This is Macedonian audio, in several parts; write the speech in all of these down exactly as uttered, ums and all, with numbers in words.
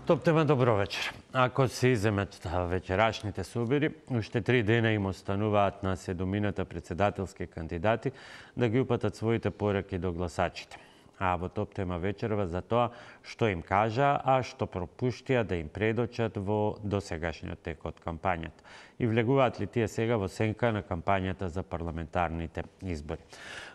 Топ тема, добро вечер. Ако се иземат вечерашните собери, уште три дена им остануваат на седумината председателски кандидати да ги упатат своите пораки до гласачите. А во топ тема вечерва за тоа што им кажа, а што пропуштија да им предочат во досегашниот тек од кампањата. И влегуваат ли тие сега во сенка на кампањата за парламентарните избори.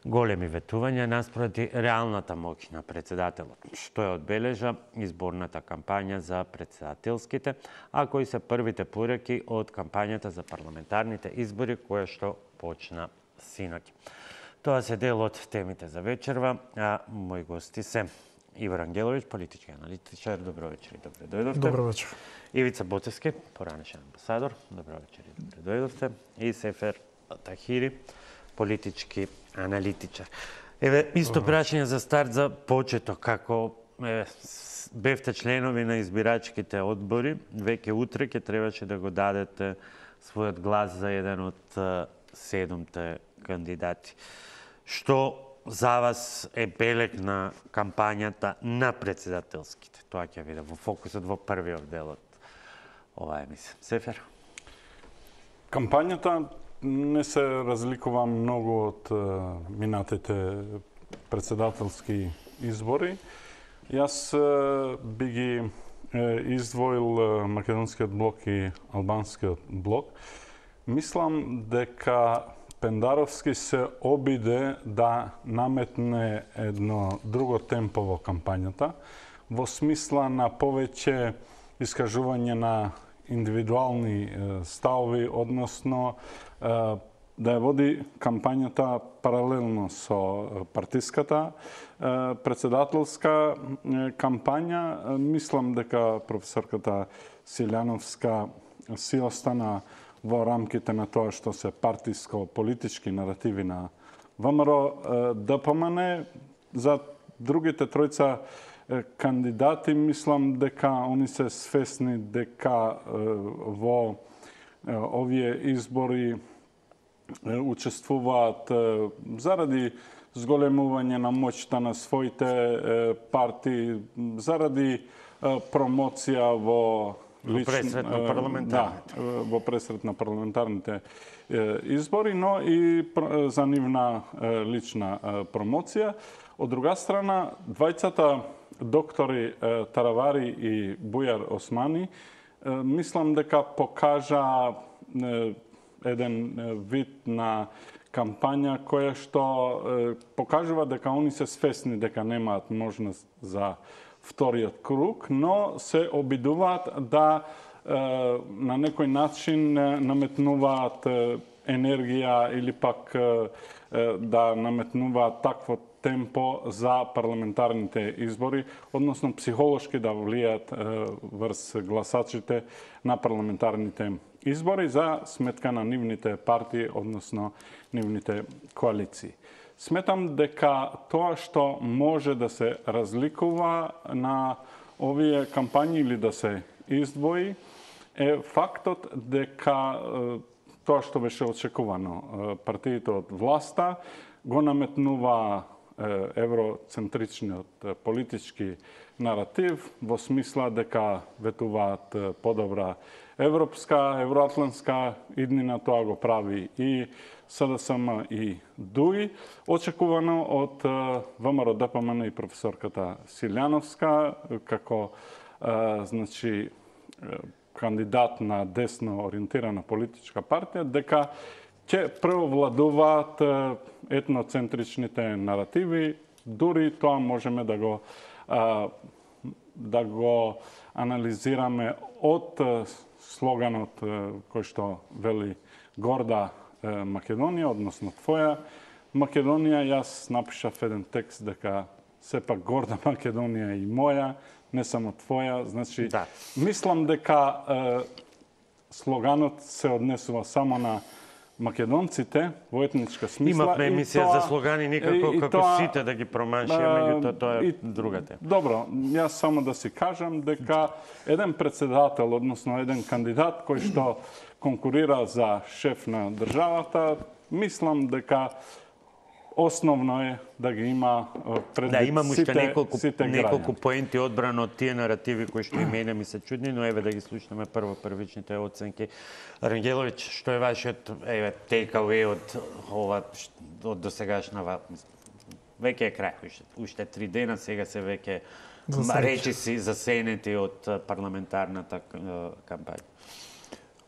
Големи ветувања наспроти реалната моќ на председателот, што е одбележа изборната кампања за председателските, а кои се првите пораки од кампањата за парламентарните избори која што почна синоќ. Тоа се дел од темите за вечерва, а мои гости се Ивар Ангеловиќ, политички аналитичар. Добро вечер и добре дојдовте. Добро вечер. Ивица Боцевски, поранешен амбасадор. Добро вечер и добре дојдовте. И Сефер Тахири, политички аналитичар. Еве, исто прашање за старт за почеток, како е, бевте членови на избирачките одбори, веќе утре ќе требаше да го дадете својот глас за еден од седумте кандидати. Што за вас е белег на кампањата на председателските? Тоа ќе биде во фокусот во првиот дел од оваа емисија. Сефер? Кампањата не се разликува многу од минатите председателски избори. Јас би ги издвоил македонскиот блок и албанскиот блок. Мислам дека Пендаровски се обиде да наметне едно друго темпо во кампањата, во смисла на повеќе искажување на индивидуални ставови, односно да ја води кампањата паралелно со партиската председателска кампања. Мислам дека професорката Силјановска си остана во рамките на тоа што се партиско-политички наративи на ВМРО Д П М Н. За другите тројца кандидати, мислам дека они се свесни дека во овие избори учествуваат заради зголемување на моќта на своите партии, заради промоција во Во пресрет на парламентарните. Да, во пресрет на парламентарните избори, но и за нивна лична промоција. Од друга страна, двајцата доктори Таравари и Бујар Османи, мислам дека покажа еден вид на кампања која што покажува дека они се свесни дека немаат можност за вториот круг, но се обидуваат да на некој начин наметнуваат енергија или пак да наметнуваат такво темпо за парламентарните избори, односно психолошки да влијат врз гласачите на парламентарните избори за сметка на нивните партии, односно нивните коалиции. Сметам дека тоа што може да се разликува на овие кампањи или да се издвои е фактот дека тоа што беше очекувано. Партиите од власта го наметнува евроцентричниот политички наратив во смисла дека ветуваат подобра европска, евроатлантска иднина. Тоа го прави и С Д С М и други. Очекувано од ВМРО Д П М Н и професорката Силјановска како значи кандидат на десно ориентирана политичка партија, дека ќе преовладуваат етноцентричните наративи. Дури тоа можеме да го да го анализираме од слоганот кој што вели горда Македонија, односно твоја Македонија. Јас напишав еден текст дека сепак горда Македонија и моја, не само твоја. Значи, да. Мислам дека е, слоганот се однесува само на македонците во етничка смисла. Имавме емисија тоа, за слогани, никако и, како тоа, сите да ги промашиме, меѓутоа тоа е другата. Добро, јас само да си кажам дека еден председател, односно еден кандидат кој што конкурира за шеф на државата, мислам дека основно е да ги има пред Да, имам уште сите, неколку, сите неколку граѓани. поенти одбрано од тие наративи кои што и мене ми се чудни, но еве да ги слушнеме прво првичните оценки. Рангеловиќ, што е вашиот еве take-away од ова од досегашна веќе е крај, уште, уште три дена, сега се веќе речиси засенети од парламентарната кампања.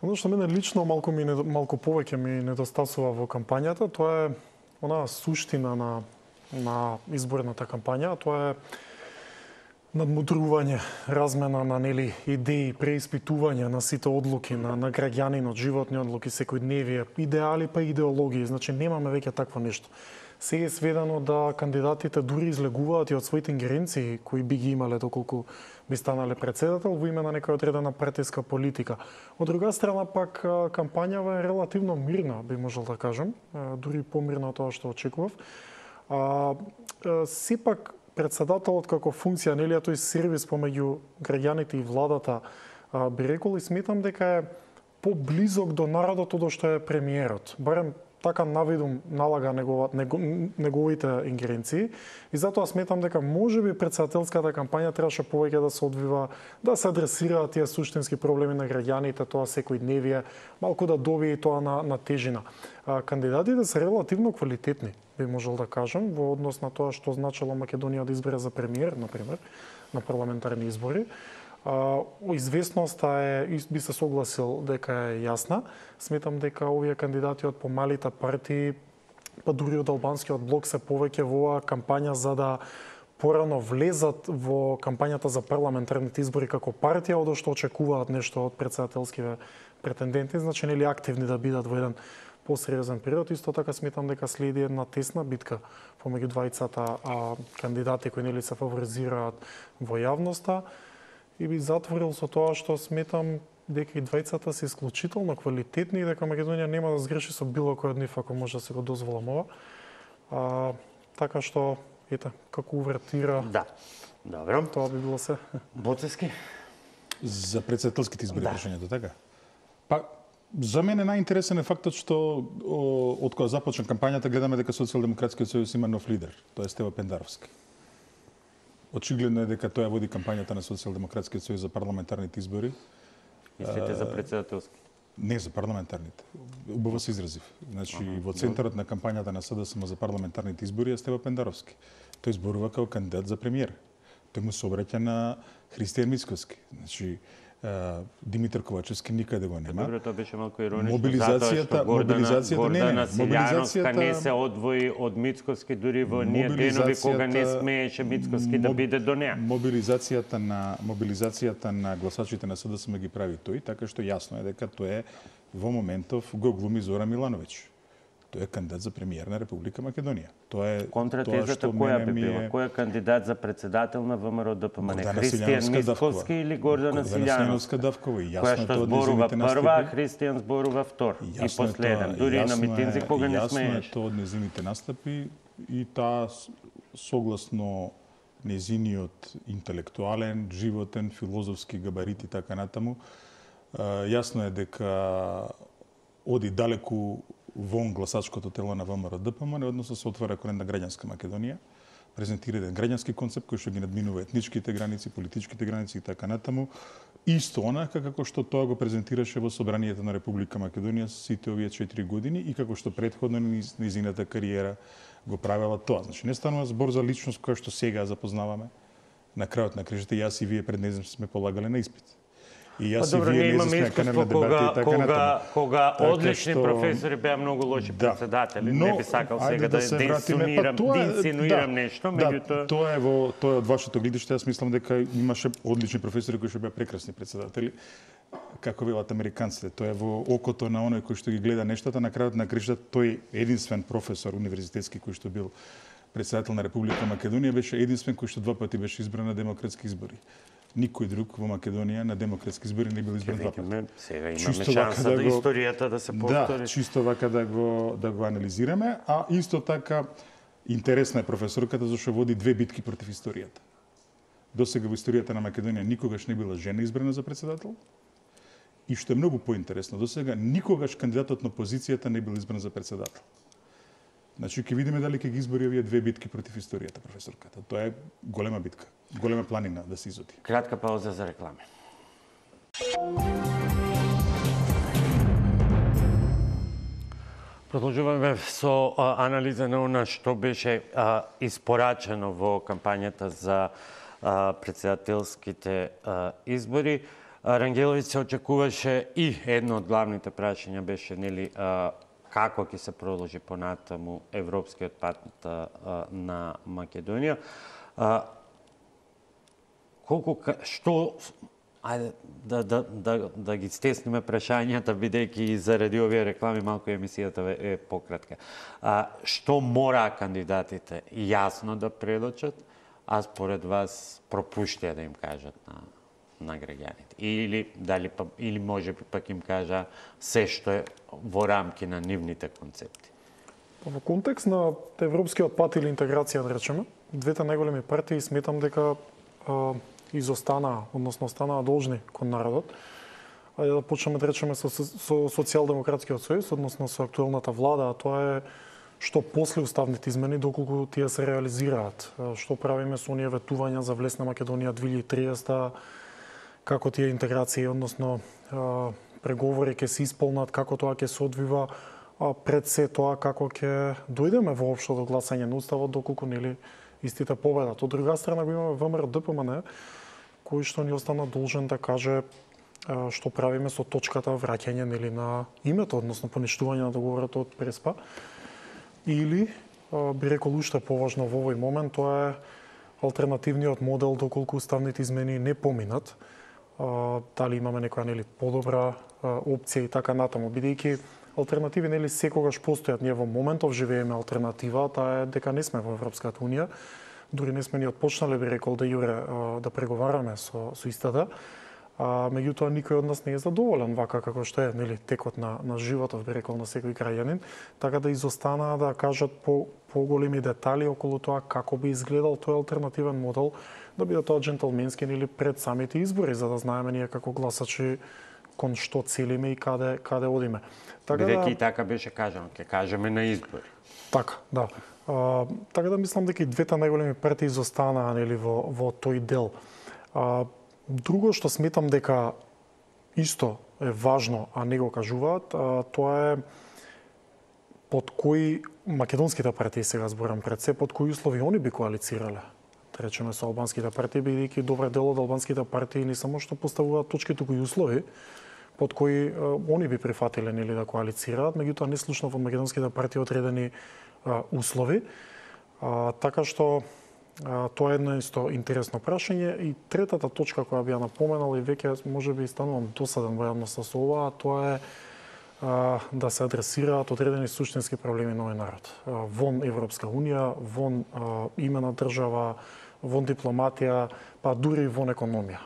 Оно што мене лично малку ми малку повеќе ми недостасува во кампањата, тоа е она суштина на на изборната кампања, тоа е надмудрување, размена на нели идеи, преиспитување на сите одлуки на на граѓанинот, животни одлуки, секојдневие, идеали па идеологии, значи немаме веќе такво нешто. Сега е сведено да кандидатите дури излегуваат и од своите ингеренции кои би ги имале доколку би станале председател во име на некоја одредена партиска политика. Од друга страна пак кампањава е релативно мирна, би можел да кажем, дури помирна од тоа што очекував. А, сепак председателот како функција, нели, тој сервис помеѓу граѓаните и владата, а, би рекол и сметам дека е поблизок до народот од што е премиерот. Барем така навидум налага негова, него, неговите ингеренции и затоа сметам дека можеби председателската кампања требаше повеќе да се одвива, да се адресираат тие суштински проблеми на граѓаните, тоа секојдневие, малку да добие тоа на, на тежина. А, кандидатите се релативно квалитетни, би можел да кажем, во однос на тоа што значило Македонија да избере за премиер, например, на парламентарни избори. Uh, известноста е, би се согласил дека е јасна. Сметам дека овие кандидати од помалите партии, па дури од албанскиот блок се повеќе во оваа кампања за да порано влезат во кампањата за парламентарните избори како партија, од што очекуваат нешто од председателските претенденти, значи нели активни да бидат во еден посериозен период. Исто така сметам дека следи една тесна битка помеѓу двајцата а, кандидати кои нели се фаворизираат во јавноста. И би затворил со тоа што сметам дека и двајцата се исклучително квалитетни и дека Македонија нема да сгреши со било кој од нив ако може да се го дозволам ова. А, така што, ете, како увертира... Да, добро. Тоа би било се. Боцевски? За председателските избори Да. прашањето, така? Па, за мене најинтересен е фактот што од кога започна кампањата гледаме дека Социјалдемократскиот сојуз има нов лидер, тоа е Стево Пендаровски. Очигледно е дека тоа води кампањата на Социјалдемократскиот сојуз за парламентарните избори. Мислите за председателски? Не, за парламентарните. Убаво се изразив. Значи, ага, во центарот на кампањата на СДСМ за парламентарните избори е Стево Пендаровски. Тој зборува како кандидат за премиер. Тој му се обраќа на Христијан Мицковски. Значи, Димитар Ковачевски никаде го нема. Добро, тоа беше малку иронично, Мобилизацијата, затоа што Гордана, мобилизацијата, Гордана не, не, Силјановска не мобилизацијата- се одвои од Мицковски дури во ние денови кога не смееше Мицковски да Моб- биде до неа. Мобилизацијата на мобилизацијата на гласачите на СДСМ ги прави тој, така што јасно е дека тој е во моментов го глуми Зора Милановиќ. Тој е кандидат за премиер на Република Македонија. Тоа е Контратезата која би била? Кој е кандидат за председател на ВМРО ДПМН? Гордана Христијан Силјановска Мицковски Давкова. или Гордана Гордана Силјановска? Силјановска Давкова, и јасно Која е што тоа од зборува нејзините прва, а настапи. Христијан зборува втор. И Јасно е последен. тоа, Дури и на јасно митинзи е- кога не Јасно смееш. е тоа од незините настапи и таа с- согласно незиниот интелектуален, животен, филозофски габарит и така натаму, а, јасно е дека оди далеку вон гласачкото тело на ВМРО ДПМН, односно се отвара кон една граѓанска Македонија, презентира еден граѓански концепт кој што ги надминува етничките граници, политичките граници и така натаму, исто онака како што тоа го презентираше во собранието на Република Македонија сите овие четири години и како што претходно низ низината кариера го правела тоа. Значи не станува збор за личност која што сега ја запознаваме. На крајот на крижите јас и вие пред незнам сме полагале на испит. И Па јас и добро, вие ние не имаме сме искуство канем на дебати кога, и така кога, натаму. кога Така одлични што- професори беа многу лоши Да. председатели. Но, Не би сакал ајде сега да, се да вратиме, па инсинуирам, тоа да е- инсинуирам да, нешто, да, меѓутоа... тоа е во тоа е од вашето гледиште, јас мислам дека имаше одлични професори кои што беа прекрасни председатели. Како велат американците, тоа е во окото на оној кој што ги гледа нештата, на крајот на кришта тој единствен професор универзитетски кој што бил председател на Република Македонија беше единствен кој што два пати беше избран на демократски избори. Никој друг во Македонија на демократски избори не бил избран два пати. Видиме, сега имаме Чисто шанса вака да, да го- историјата да се повтори. Да, чисто вака да го да го анализираме, а исто така интересна е професорката зашто води две битки против историјата. Досега во историјата на Македонија никогаш не била жена избрана за председател. И што е многу поинтересно, досега никогаш кандидатот на опозицијата не бил избран за председател. Значи, ќе видиме дали ќе ги избори овие две битки против историјата, професорката. Тоа е голема битка, голема планина да се изоди. Кратка пауза за реклами. Продолжуваме со а, анализа на она што беше а, испорачено во кампањата за а, председателските а, избори. А, Рангеловиќ се очекуваше и едно од главните прашања беше нели а, како ќе се продолжи понатаму европскиот пат а, на Македонија. А, колку што ајде да да да да ги стесниме прашањата бидејќи и заради овие реклами малку емисијата е пократка. А што мора кандидатите јасно да предочат, а според вас пропуштија да им кажат на на граѓаните, или дали па или можеби пак им кажа се што е во рамки на нивните концепти? Во контекст на европскиот пат или интеграција, да речеме, двете најголеми партии сметам дека а, изостанаа, односно останаа должни кон народот. Ајде да почнеме да речеме со, со социјалдемократскиот сојуз, односно со актуелната влада, а тоа е што после уставните измени, доколку тие се реализираат. Што правиме со оние ветувања за влез на Македонија две илјади и триесета, како тие интеграции, односно преговори ќе се исполнат, како тоа ќе се одвива, а пред се тоа како ќе дојдеме воопшто до гласање на уставот, доколку нели истите победат. Од друга страна го имаме ВМРО Д П М Н, кој што ни остана должен да каже што правиме со точката враќање нели на името, односно поништување на договорот од Преспа. Или би рекол уште поважно во овој момент, тоа е алтернативниот модел доколку уставните измени не поминат. Дали имаме некоја нели подобра опција и така натаму, бидејќи алтернативи нели секогаш постојат. Ние во моментов живееме алтернатива, таа е дека не сме во Европската унија, дури не сме ни отпочнале, би рекол, да јуре да преговараме со со истата. А меѓутоа никој од нас не е задоволен вака како што е нели текот на на животот, би рекол, на секој граѓанин, така да изостанаа да кажат по поголеми детали околу тоа како би изгледал тој алтернативен модел, да биде тоа джентълменски или пред самите избори, за да знаеме ние како гласачи кон што целиме и каде каде одиме. Така бидејќи да, и така беше кажано, ќе кажеме на избори. Така, да. А, така да мислам дека и двете најголеми партии изостанаа нели во во тој дел. А, друго што сметам дека исто е важно, а не го кажуваат, а, тоа е под кои македонските партии, сега зборам пред се, под кои услови они би коалицирале. Да речеме со албанските партии, бидејќи добар дел од албанските партии не само што поставуваат точки, туку и услови под кои а, они би прифатиле нели да коалицираат, меѓутоа не слушнав од македонските партии одредени а, услови. А, така што а, тоа е едно исто интересно прашање. И третата точка која би ја напоменал и веќе можеби станувам досаден во јавноста со ова, тоа е а, да се адресираат одредени суштински проблеми на овој народ. А, вон Европска унија, вон а, имена држава, вон дипломатија, па дури вон економија.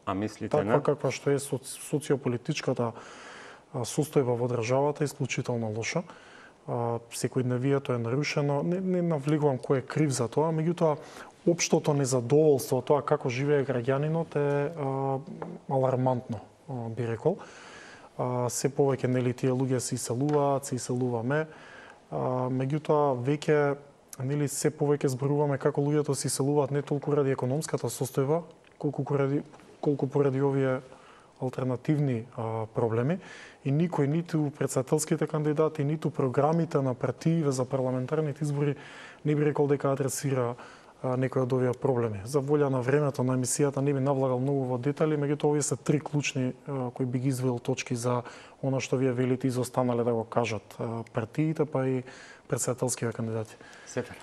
А мислите таква на? каква што е социополитичката состојба во државата е исклучително лоша. Секојдневието е нарушено. Не, не навлегувам кој е крив за тоа, меѓутоа општото незадоволство, тоа како живее граѓанинот е а, алармантно, а, би рекол. А, се повеќе нели тие луѓе се иселуваат, се иселуваме, а, меѓутоа веќе нели се повеќе зборуваме како луѓето се иселуваат не толку ради економската состојба, колку поради колку поради овие алтернативни а, проблеми, и никој, ниту претседателските кандидати, ниту програмите на партиите за парламентарните избори не би рекол дека адресира а, некој од овие проблеми. За волја на времето на емисијата не би навлагал многу во детали, меѓутоа овие се три клучни а, кои би ги извел точки за она што вие велите изостанале да го кажат а, партиите, па и претседателските кандидати. Сефер.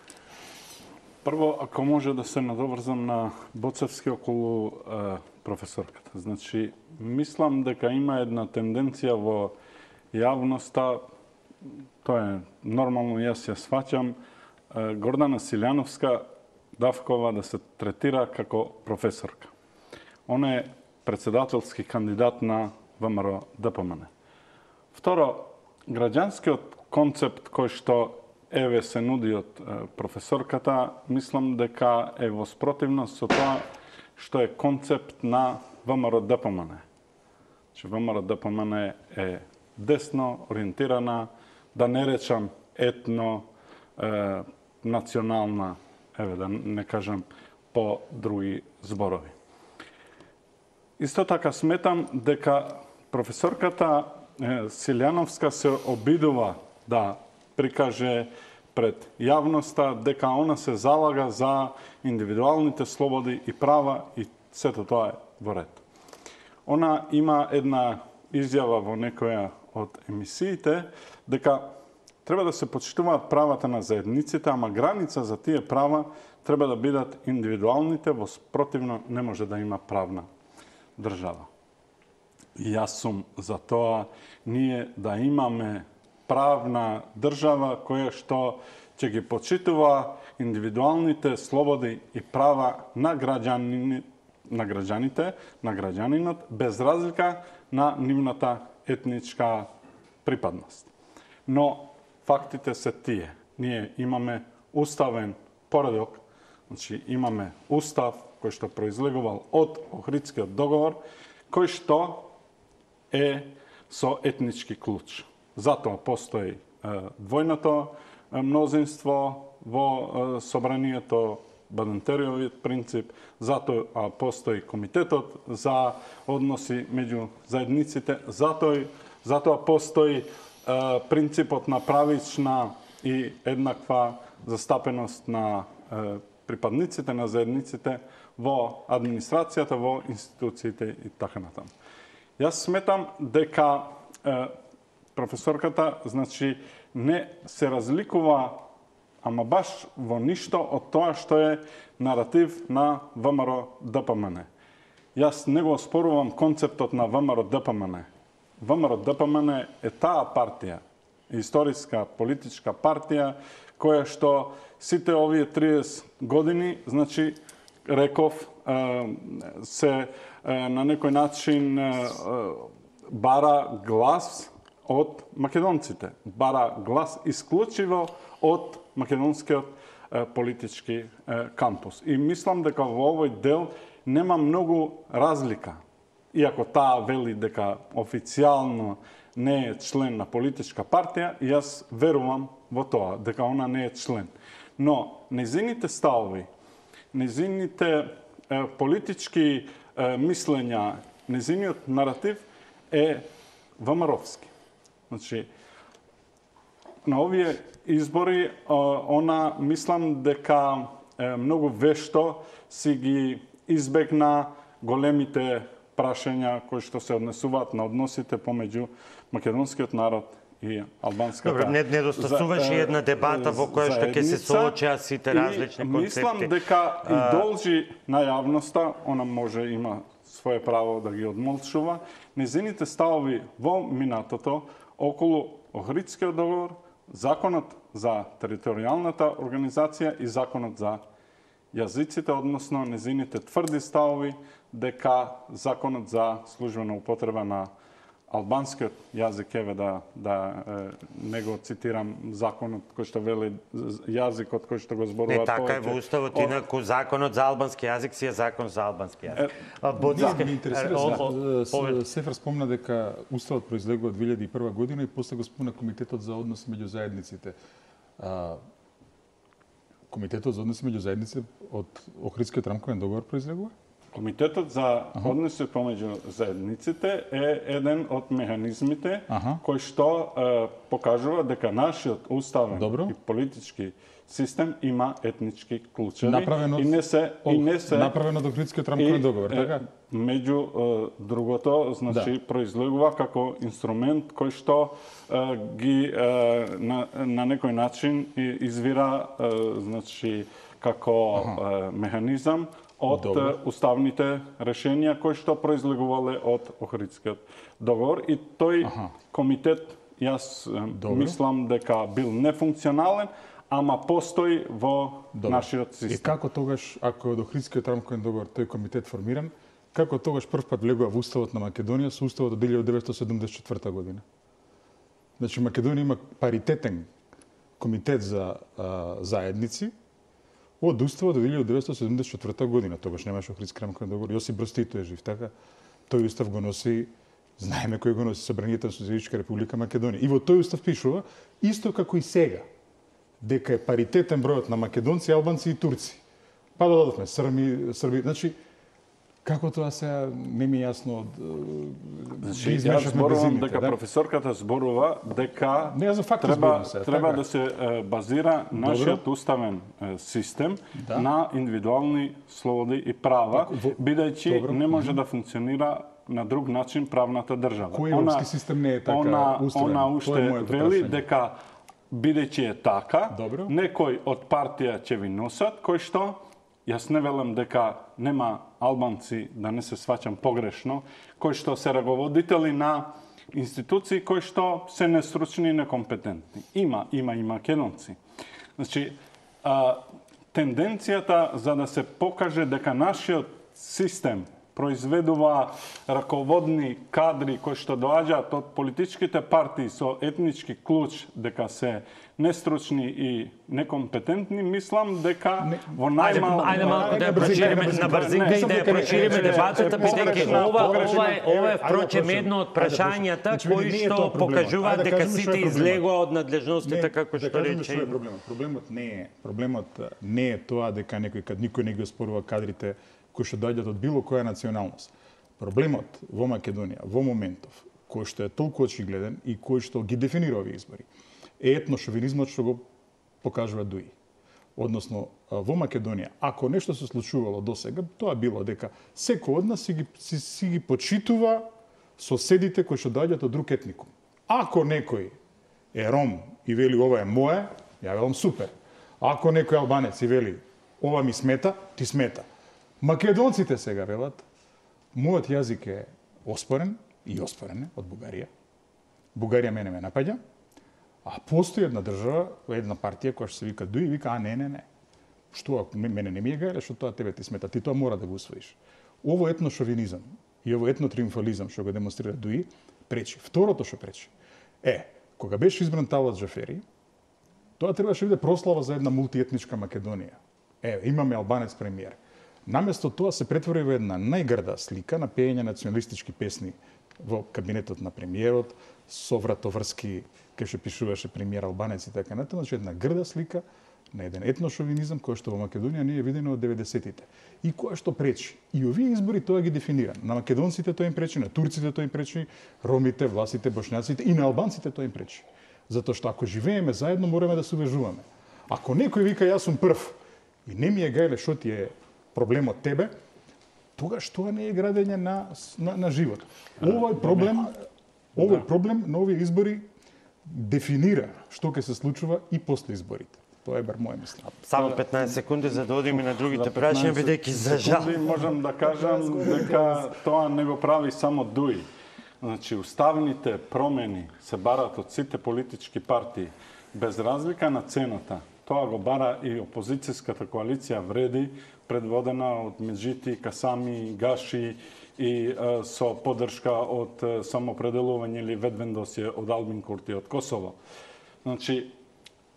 Прво, ако може да се надоврзам на Боцевски околу е, професорката. Значи, мислам дека има една тенденција во јавноста, тоа е нормално, јас ја сваќам, е, Гордана Силјановска Давкова да се третира како професорка. Она е председателски кандидат на ВМРО Д П М Н. Второ, граѓанскиот концепт кој што еве се нуди од професорката, мислам дека е во спротивност со тоа што е концепт на ВМРО Д П М Н. Че ВМРО Д П М Н е десно ориентирана, да не речам етно е, национална, еве да не кажам по други зборови. Исто така сметам дека професорката Силјановска се обидува да прикаже пред јавноста дека она се залага за индивидуалните слободи и права и сето тоа е во ред. Она има една изјава во некоја од емисиите дека треба да се почитуваат правата на заедниците, ама граница за тие права треба да бидат индивидуалните, во спротивно не може да има правна држава. И јас сум за тоа ние да имаме правна држава која што ќе ги почитува индивидуалните слободи и права на граѓани, на граѓаните, на граѓанинот, без разлика на нивната етничка припадност. Но фактите се тие. Ние имаме уставен поредок, значи имаме устав кој што произлегувал од Охридскиот договор, кој што е со етнички клуч. Затоа постои е, двојното мнозинство во е, собранието, Бадентериовиот принцип, затоа постои комитетот за односи меѓу заедниците, затоа, затоа постои е, принципот на правична и еднаква застапеност на е, припадниците на заедниците во администрацијата, во институциите и така натаму. Јас сметам дека е, професорката, значи, не се разликува, ама баш во ништо од тоа што е наратив на ВМРО-ДПМН. Јас не го оспорувам концептот на ВМРО-ДПМН. ВМРО-ДПМН е таа партија, историска политичка партија, која што сите овие триесет години, значи, реков, се на некој начин бара глас од македонците. Бара глас исклучиво од македонскиот политички кампус. И мислам дека во овој дел нема многу разлика. Иако таа вели дека официјално не е член на политичка партија, јас верувам во тоа, дека она не е член. Но незините ставови, незините е, политички е, мислења, незиниот наратив е ВМРО-вски. Значи, на овие избори, она мислам дека е, многу вешто си ги избегна големите прашања кои што се однесуваат на односите помеѓу македонскиот народ и албанската. Добре, не недостасуваше една дебата во која што ќе се соочеа сите различни концепти. Мислам дека и должи на јавноста, она може има свое право да ги одмолчува, незините ставови во минатото околу Охридскиот договор, законот за територијалната организација и законот за јазиците, односно незините тврди ставови дека законот за службена употреба на албанскиот јазик, еве да, да не го цитирам законот кој што вели јазикот кој што го зборува. Не, така е во уставот, инаку законот за албански јазик си е закон за албански јазик. Бодиска ми интересира, Сефер спомна дека уставот произлегува две илјади и прва година и после го спомна комитетот за односи меѓу заедниците. Комитетот за односи меѓу заедниците од Охридскиот рамковен договор произлегува? Комитетот за односи помеѓу заедниците е еден од механизмите Аха. кој што е, покажува дека нашиот уставен Добро. и политички систем има етнички клучеви направено и не се о, и не се направено од Охридскиот рамковен договор, така? Меѓу е, другото, значи да. произлегува како инструмент кој што е, ги е, на, на некој начин извира е, значи како е, механизам од Добре. уставните решенија кои што произлегувале од Охридскиот договор и тој Аха. комитет јас Добре. мислам дека бил нефункционален, ама постои во Добре. нашиот систем. И како тогаш, ако од Охридскиот рамковен договор тој комитет формиран, како тогаш прв пат влегува во уставот на Македонија со уставот од илјадесет деветстотини седумдесет и четврта година? Значи Македонија има паритетен комитет за а, заедници од уставот од илјадесет деветстотини седумдесет и четврта година. Тогаш немаше Охридски рамковен договор. Јосип Брз Тито е жив, така? Тој устав го носи Знаеме кој го носи собранието на Социјалистичка република Македонија. И во тој устав пишува, исто како и сега, дека е паритетен бројот на македонци, албанци и турци. Па додадовме Срми, Срби, значи како тоа сега не ми е јасно. Значи, јас зборувам дека да? професорката зборува дека не, за факт треба, сега, треба така. да се е, базира нашиот уставен е, систем да? на индивидуални слободи и права, бидејќи не може да функционира на друг начин правната држава. Кој европски систем не е така она, устроен? Она уште вели дека бидејќи е така, Добро. некој од партија ќе ви носат, кој што јас не велам дека нема албанци, да не се сваќам погрешно, кои што се раководители на институции кои што се нестручни и некомпетентни. Има, има и македонци. Значи, а, тенденцијата за да се покаже дека нашиот систем произведува раководни кадри кои што доаѓаат од политичките партии со етнички клуч дека се нестручни и некомпетентни, мислам дека не, во најмал... Ајде малку да ја прошириме на брзинка и да ја прошириме дебатата, бидејќи ова ова е ова е впрочем едно од прашањата кои што покажуваат дека сите излегува од надлежностите како што рече. Проблемот проблемот не е проблемот не е тоа дека некој кад никој не ги оспорува кадрите кои што доаѓаат од било која националност. Проблемот во Македонија во моментов кој што е толку очигледен и кој што ги дефинира овие избори е етношовинизмот што го покажува Дуи. Односно, во Македонија, ако нешто се случувало досега, тоа било дека секој од нас си ги, си, си ги почитува соседите кои што доаѓаат од друг етникум. Ако некој е ром и вели ова е мое, ја велам супер. Ако некој албанец и вели ова ми смета, ти смета. Македонците сега велат, мојот јазик е оспорен и оспорен од Бугарија. Бугарија мене ме напаѓа. А постои една држава, една партија која што се вика Дуи, вика, а не, не, не. Што, мене не ми е гајле, што тоа тебе ти смета, ти тоа мора да го усвоиш. Ово етношовинизам и ово етнотриумфализам што го демонстрира Дуи, пречи. Второто што пречи е, кога беше избран Талат Джафери, тоа требаше да биде прослава за една мултиетничка Македонија. Е, имаме албанец премиер. Наместо тоа се претвори во една најгрда слика на пеење националистички песни во кабинетот на премиерот, со вратоврски, кај што пишуваше премиер албанец и така натаму, значи една грда слика на еден етношовинизам кој што во Македонија не е видено од деветдесетите. И која што пречи. И овие избори тоа ги дефинира. На македонците тоа им пречи, на турците тоа им пречи, ромите, власите, бошњаците и на албанците тоа им пречи. Затоа што ако живееме заедно, мораме да се увежуваме. Ако некој вика јас сум прв и не ми е гајле што ти е проблемот тебе, тогаш тоа не е градење на, на, на живот. Овој проблем, овој проблем на овие избори дефинира што ќе се случува и после изборите. Тоа е бар моје мислење. Само петнаесет секунди за да одиме на другите прашања, бидејќи за жал можам да кажам дека тоа не го прави само Дуи. Значи, уставните промени се барат од сите политички партии, без разлика на цената. Тоа го бара и опозицијската коалиција Вреди, предводена од Меджити, Касами, Гаши и е, со поддршка од е, самопределување или ведвендосје од Албин Курти од Косово. Значи,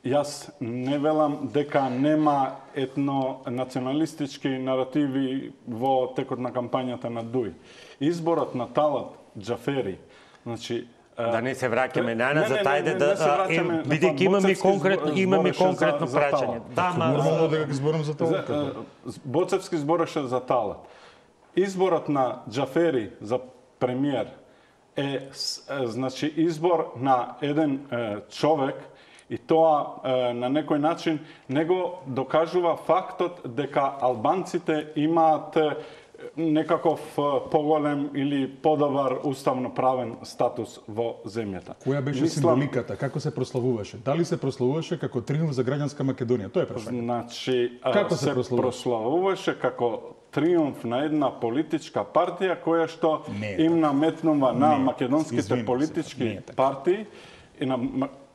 јас не велам дека нема етно-националистички наративи во текот на кампањата на Дуи. Изборот на Талат Джафери, значи, да не се враќаме на назад, ајде да бидејќи имаме конкретно имаме конкретно прашање. Да, нормално да ги зборам за Талат. Боцевски збореше за Талат. Изборот на Джафери за премиер е значи избор на еден е, човек и тоа е, на некој начин не го докажува фактот дека албанците имаат некаков поголем или подобар уставно правен статус во земјата. Која беше Мислам... символиката? Како се прославуваше? Дали се прославуваше како триумф за граѓанска Македонија? Тоа е прашање. Значи, како се, се прославуваше? прославуваше како триумф на една политичка партија која што им наметнува на не, македонските извиним, политички не партии и на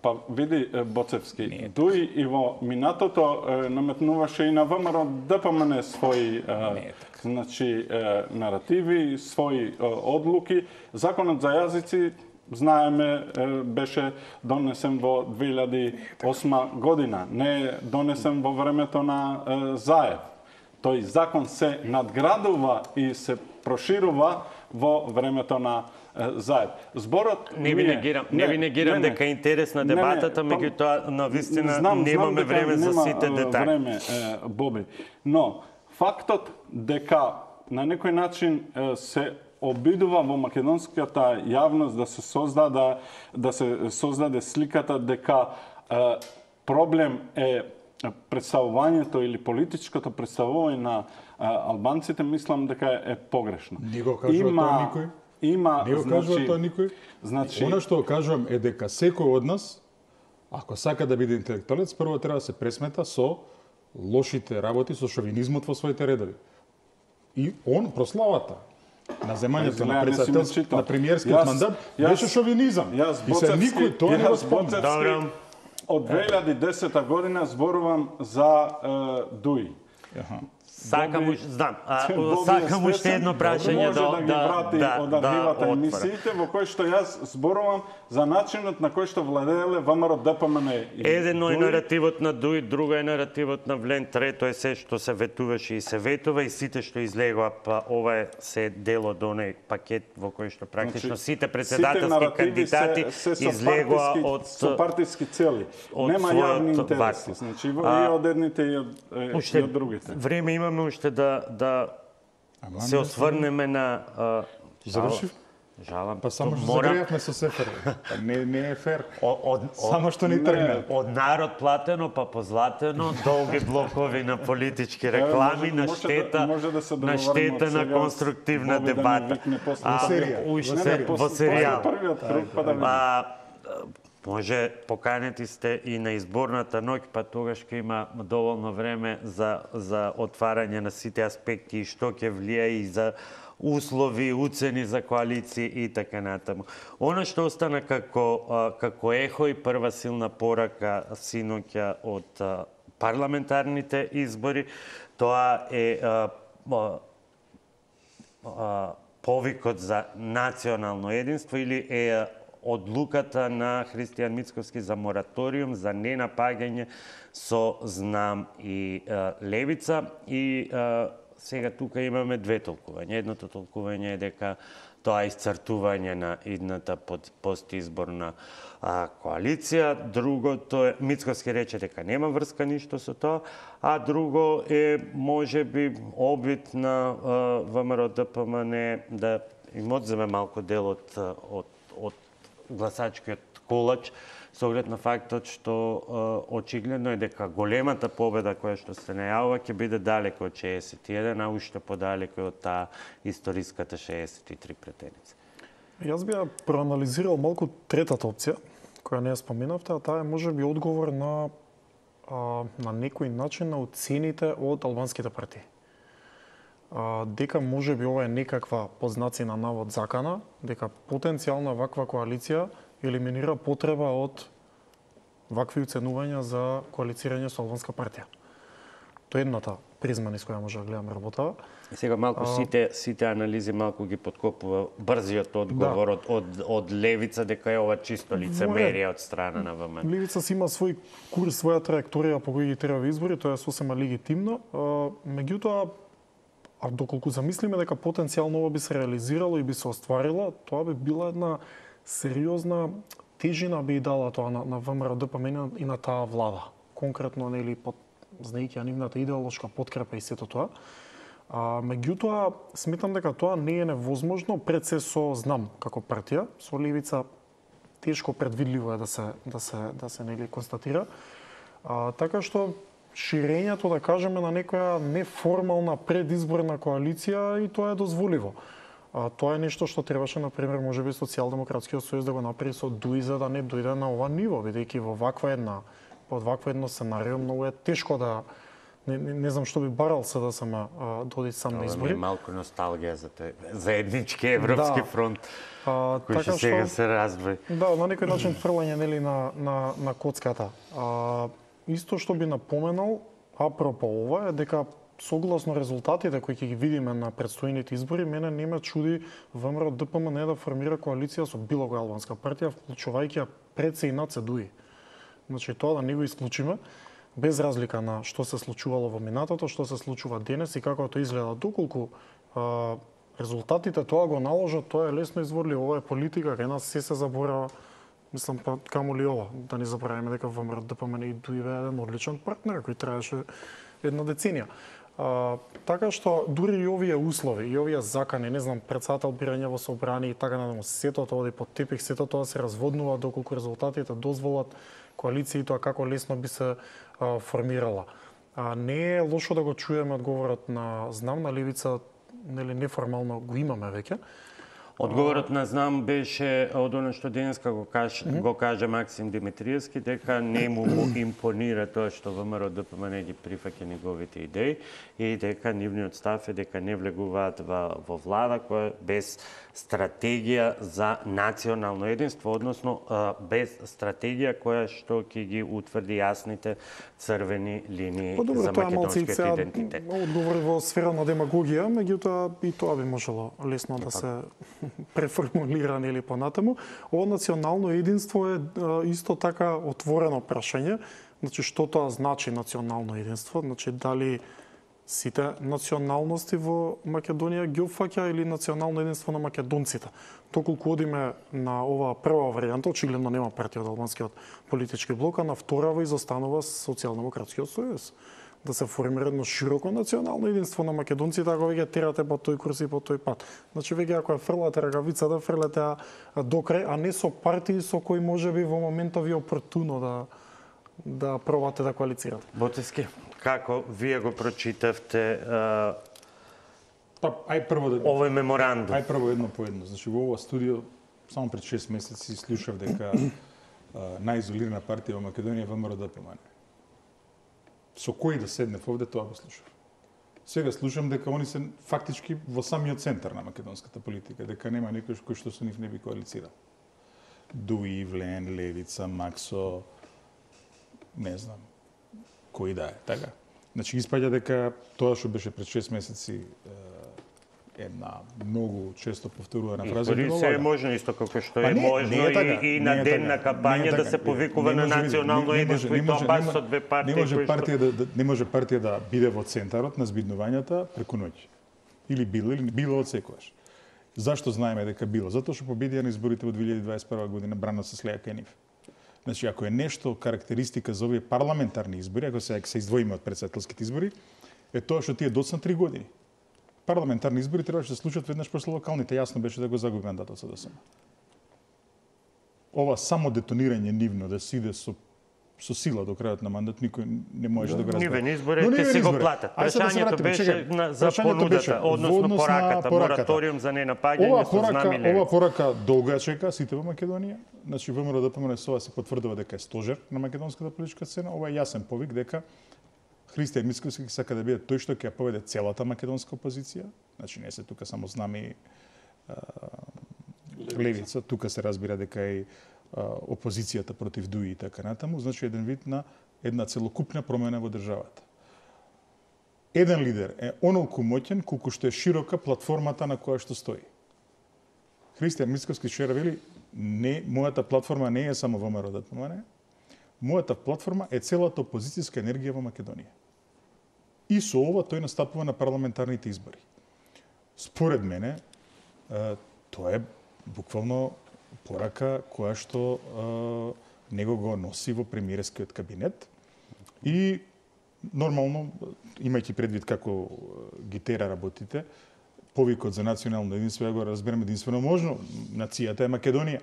па види Боцевски, не, Дуи и во минатото е, наметнуваше и на ВМРО ДПМН своји е, значи е, наративи, своји е, одлуки. Законот за јазици знаеме е, беше донесен во две илјади и осма година, не е донесен во времето на е, Заев. Тој закон се надградува и се проширува во времето на заед. Зборот не ви негирам, не, не ви негирам дека е интересна дебатата, меѓутоа навистина немаме време за сите детали. Време, Боби. Но фактот дека на некој начин се обидува во македонската јавност да се создаде да се создаде сликата дека проблем е представувањето или политичкото представување на албанците, мислам дека е погрешно. Не го кажува има, тоа никој. Има, не го значи, кажува тоа никој. Значи, Она што кажувам е дека секој од нас, ако сака да биде интелектуалец, прво треба да се пресмета со лошите работи, со шовинизмот во своите редови. И он прославата на земањето на председателство на премиерскиот мандат беше шовинизам. И се никој тоа не го спомна. Од две илјади и десета година зборувам за Дуи. Сакам уште, знам, сакам уште едно прашање да може да ги врати од архивата емисиите во кој што јас зборувам за начинот на кој што владееле ВМРО Д П М Н. Едно е наративот на Дуи, друго е наративот на Влен, трето е се што се ветуваше и се ветува и сите што излегува, па ова е се дел од оној пакет во кој што практично сите председателски кандидати излегува од со партиски цели. Нема јавни интереси, значи и од едните и од другите. Време имаме уште да да се осврнеме на Завршив? Жалам. Па само што загрејавме со Сефер. Не не е фер. Само што не тргна. Од народ платено па позлатено, долги блокови на политички реклами на штета на штета на конструктивна дебата. Уште во серијал. Може, поканети сте и на изборната ноќ, па тогаш ќе има доволно време за, за отварање на сите аспекти и што ќе влија и за услови, уцени за коалиции и така натаму. Оно што остана како, како ехо и прва силна порака синоќа од парламентарните избори, тоа е а, а, повикот за национално единство или е одлуката на Христијан Мицковски за мораториум за ненапагање со Знам и е, Левица. И е, сега тука имаме две толкувања. Едното толкување е дека тоа е исцртување на идната постизборна а, коалиција. Другото е, Мицковски рече дека нема врска ништо со тоа, а друго е можеби обид на ВМРО Д П М Н да им одземе малку дел од, од, од гласачкиот колач, со оглед на фактот што е, очигледно е дека големата победа која што се најавува ќе биде далеко од шеесет и еден, а уште подалеко од таа историската шеесет и три претеница. Јас би ја проанализирал малку третата опција, која не ја споменавте, а таа е можеби одговор на а, на некој начин на оцените од албанските партии. А, дека може би ова е некаква познаци на навод закана, дека потенцијална ваква коалиција елиминира потреба од вакви оценувања за коалицирање со албанска партија. Тоа е едната призма низ која може да гледаме работава. И сега малку а... сите сите анализи малку ги подкопува брзиот одговор да. од, од од Левица дека е ова чисто лицемерие од страна на В М Н. Левица си има свој курс, своја траекторија по кој ги треба избори, тоа е сосема легитимно. А, меѓутоа, а доколку замислиме дека потенцијално ова би се реализирало и би се остварило, тоа би била една сериозна тежина би дала тоа на, на ВМРО Д П М Н и на таа влада. Конкретно, нели, под знаејќи нивната идеолошка подкрепа и сето тоа. А, меѓутоа, сметам дека тоа не е невозможно пред се со Знам како партија, со Левица тешко предвидливо е да се да се да се нели констатира. А, така што ширењето, да кажеме, на некоја неформална предизборна коалиција и тоа е дозволиво. А, тоа е нешто што требаше, например, можеби Социјалдемократскиот сојуз да го направи со Дуи за да не дојде на ова ниво, бидејќи во ваква една под вакво едно сценарио многу е тешко да не, не, не знам што би барал се да сам доди сам на избори. Ова ми е малку носталгија за те заеднички европски да. фронт. А, кој така сега се раздвои. Да, на некој начин фрлање нели на на на коцката. А, исто што би напоменал апропо ова е дека согласно резултатите кои ќе ги видиме на предстојните избори, мене не ме чуди ВМРО Д П М Н да формира коалиција со било која албанска партија, вклучувајќи ја пред се и над се Дуи. Значи тоа да не го исклучиме, без разлика на што се случувало во минатото, што се случува денес и како тоа изгледа, доколку а, резултатите тоа го наложат, тоа е лесно изворливо, ова е политика, кај нас се се заборава. Мислам, па камо ли ова, да не забравиме дека ВМРО Д П М Н и ДУИ е еден одличен партнер кој траеше една деценија. А, така што дури и овие услови, и овие закани, не знам, председател бирање во собрание и така надаму, сето тоа оди под тепих, сето тоа се разводнува доколку резултатите дозволат коалицијата како лесно би се а, формирала. А, не е лошо да го чуеме одговорот на знам на левица, нели неформално го имаме веќе. Одговорот на знам беше од оно што денеска го каже, mm -hmm. го каже Максим Димитриевски, дека не му, му импонира тоа што ВМРО Д П М Н ги прифаќа неговите идеи и дека нивниот став е дека не влегуваат во, во влада која без стратегија за национално единство, односно без стратегија која што ќе ги утврди јасните црвени линии По добро, за македонскиот идентитет. Одговори во сфера на демагогија, меѓутоа и тоа би можело лесно да се преформулиран или понатаму. Ово национално единство е исто така отворено прашање. Значи, што тоа значи национално единство? Значи, дали сите националности во Македонија ги опфаќа или национално единство на македонците? Доколку одиме на оваа прва варијанта, очигледно нема партија од албанскиот политички блок, а на вторава изостанува Социјалдемократскиот сојуз. Да се формира едно широко национално единство на македонците, ако веќе терате по тој курс и по тој пат. Значи, веќе ако ја фрлате ракавицата, фрлете ја до крај, а не со партии со кои може би во моментов ви опортуно да да пробате да коалицирате. Боцевски, како вие го прочитавте а... Па, ај прво да овој меморандум? Ај прво едно по едно. Значи, во ова студио само пред шест месеци слушав дека најизолирана партија во Македонија е ВМРО Д П М Н. Со кој да седнев овде, тоа го слушав. Сега слушам дека они се фактички во самиот центар на македонската политика, дека нема некој кој што со нив не би коалицирал. ДУИ, Влен, Левица, Максо, не знам, кој да е, така. Значи, испаѓа дека тоа што беше пред шест месеци една многу често повторувана фраза. Избори се е можно исто како што е не, можно не е така, и, и на не е ден така, на кампања да се повикува на национално единство и тоа баш со две партии. Не може партија да, да не може партија да биде во центарот на збиднувањата преку ноќ. Или било или било од секогаш. Зашто знаеме дека било? Затоа што победија на изборите во две илјади дваесет и прва година брано се слеја кај нив. Значи, ако е нешто карактеристика за овие парламентарни избори, ако се, се издвоиме од претседателските избори, е тоа што тие доцна три години. Парламентарни избори требаше да се случат веднаш после локалните. Јасно беше да го загуби мандатот со Д С М. Ова само детонирање нивно да се иде со со сила до крајот на мандат, никој не може да го разбере. Нивен избори ќе се го платат. Прашањето беше на, за понудата, односно пораката, мораториум за ненапаѓање со знам и левица. Ова порака долга чека сите во Македонија. Значи, ВМРО Д П М Н со ова се потврдува дека е стожер на македонската политичка сцена. Ова е јасен повик дека Христијан Мицкоски сака да биде тој што ќе ја поведе целата македонска опозиција. Значи, не се тука само знаме левица, тука се разбира дека и опозицијата против ДУИ и така натаму, значи еден вид на една целокупна промена во државата. Еден лидер е онолку моќен колку што е широка платформата на која што стои. Христијан Мицкоски вчера вели, не, мојата платформа не е само ВМРО Д П М Н, мојата платформа е целата опозицијска енергија во Македонија. И со ова тој настапува на парламентарните избори. Според мене, тоа е буквално порака која што е, него го носи во премиерскиот кабинет и нормално, имајќи предвид како ги тера работите, повикот за национално единство, ја го разберам единствено можно, нацијата е Македонија.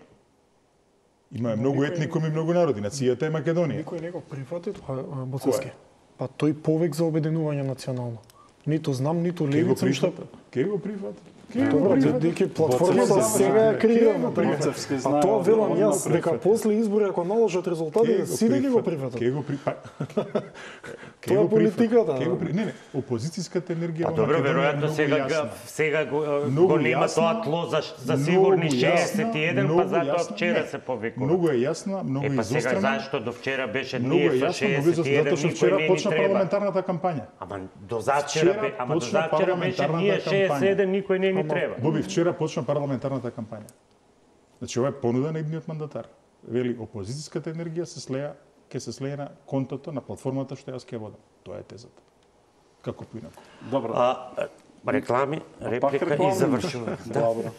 Има многу етникуми и многу народи, нацијата е Македонија. Никој не го прифати тоа, Боцевски. Па тој повик за обединување национално. Ниту знам, ниту левица, ништо. Ке го прифати? Добро, дека платформата сега е креирана. А тоа велам јас, дека после избори, ако наложат резултати, сите ги го прифатат. Ке го прифати? Тоа е политиката. Не, не, опозицијската енергија во Македонија. Добро, веројатно сега сега го нема тоа тло за за сигурни шеесет и еден, па затоа вчера се повикува. Многу е јасна, многу изострена. Е, па сега зашто до вчера беше ние со шеесет и еден, никој не ни почна парламентарната кампања. Ама до завчера, ама до завчера беше ние шеесет и еден, никој не ни треба. Боби, вчера почна парламентарната кампања. Значи, ова е понуда на идниот мандатар. Вели, опозицијската енергија се слеја, ќе се слеја на контото, на платформата што јас ќе водам. Тоа е тезата. Како поинаку. Добро. А, реклами, реплика и реклами. завршуваме. Да. Добро.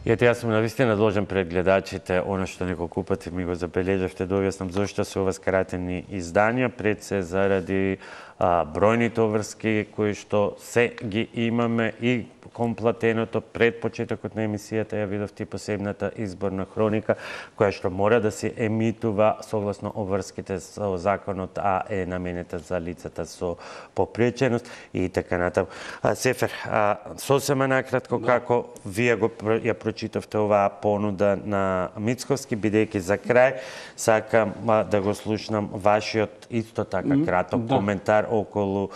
И ете, јас сум навистина должен пред гледачите, оно што неколку пати ми го забележавте, да објаснам зошто се ова скратени изданија, пред се заради а, бројните обврски кои што се ги имаме и комплатеното пред почетокот на емисијата, ја видовте посебната изборна хроника, која што мора да се емитува согласно обврските со законот, а е наменета за лицата со попреченост и така натаму. Сефер, а, сосема накратко, да. Како вие го ја прочитавте оваа понуда на Мицковски, бидејќи за крај сакам а, да го слушнам вашиот исто така краток да. коментар околу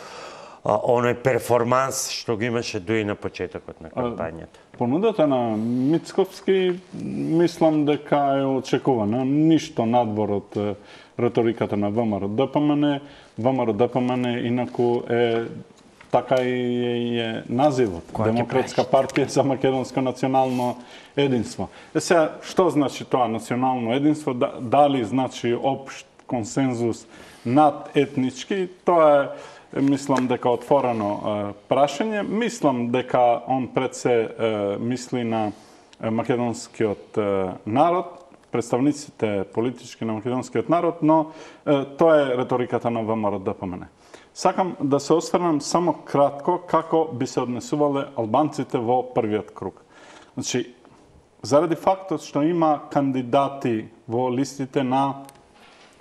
а, оној перформанс што го имаше дуи на почетокот на кампањата. Понудата на Мицковски мислам дека е очекувана, ништо надвор од реториката на ВМРО-ДПМН. ВМРО-ДПМН инаку е така и е називот. Демократска партија за македонско национално единство. Е сега, што значи тоа национално единство? Дали значи општ консензус над етнички? Тоа е, мислам дека отворено е, прашање. Мислам дека он пред се е, мисли на македонскиот е, народ, представниците политички на македонскиот народ, но е, тоа е реториката на ВМРО-ДПМН. Сакам да се осврнам само кратко како би се однесувале албанците во првиот круг. Значи, заради фактот што има кандидати во листите на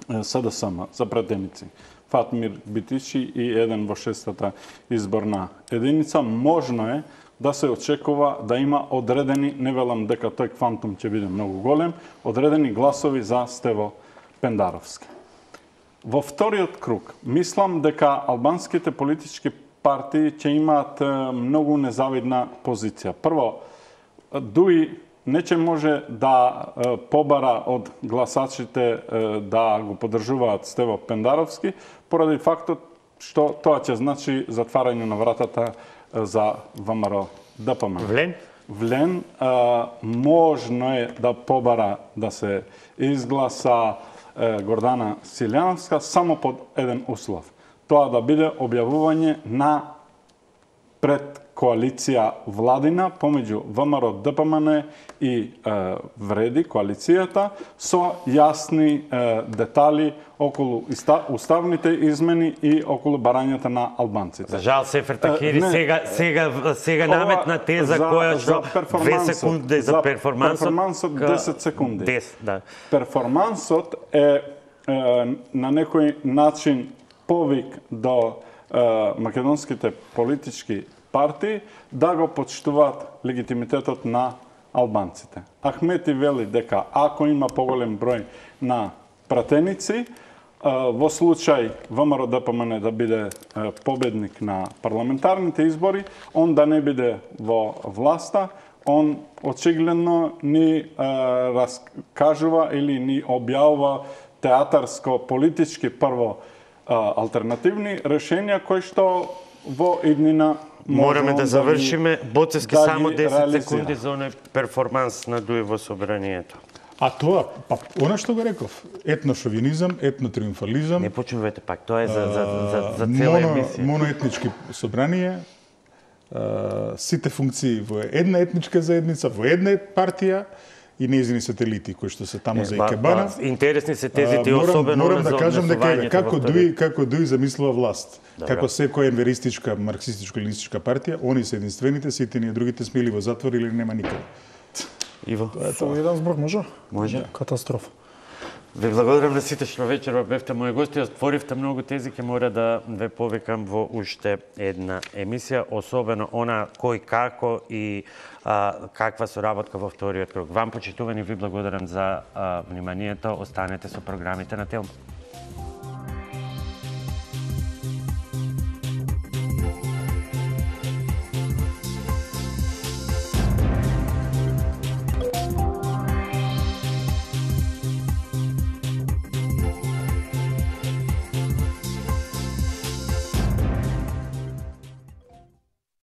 СДСМ за претеници, Фатмир Битичи и еден во шестата изборна единица, можно е да се очекува да има одредени, не велам дека тој квантум ќе биде многу голем, одредени гласови за Стево Пендаровски. Во вториот круг, мислам дека албанските политички партии ќе имаат многу незавидна позиција. Прво, дуи не ќе може да побара од гласачите да го поддржуваат Стево Пендаровски, поради фактот што тоа ќе значи затварање на вратата за ВМРО-ДПМН. Влен? Влен можно е да побара да се изгласа Гордана Силјановска само под еден услов. Тоа да биде објавување на пред коалиција владина помеѓу ВМРО-ДПМН и е, Вреди, коалицијата, со јасни е, детали околу уставните измени и околу барањата на албанците. За жал, Сефер Такири сега, сега, сега наметна теза за, која што две секунди за, за перформансот. Перформансот десет секунди. десет, да. Перформансот е, е на некој начин повик до е, македонските политички партии да го почитуваат легитимитетот на албанците. Ахмети вели дека ако има поголем број на пратеници, во случај ВМРО-ДПМН да биде победник на парламентарните избори, он да не биде во власта, он очигледно ни раскажува или ни објавува театарско-политички прво алтернативни решенија кои што во иднина Мораме да завршиме. Боцевски да само десет реализира. секунди за оној перформанс на Дуи во собранието. А тоа, па, она што го реков, етношовинизам, етнотриумфализам. Не почнувате пак, тоа е за, за, за, за цела моно, емисија. Моноетнички собрание, сите функции во една етничка заедница, во една партија и нејзини сателити кои што се таму за Икебана. Ба, интересни се тезите, морам, особено морам да кажам дека како Дуи, вториот. како Дуи замислува власт. Добра. Како секоја енверистичка, марксистичко-ленинистичка партија, они се единствените, сите ние другите сме или во затвор или нема никаде. Иво. Со еден збор може? Може. Катастрофа. Ви благодарам на сите што вечерва бевте мои гости, отворивте многу тези, ќе мора да ве повикам во уште една емисија, особено она кој како и а, каква соработка во вториот круг. Вам почитувани ви благодарам за а, вниманието, останете со програмите на Телма.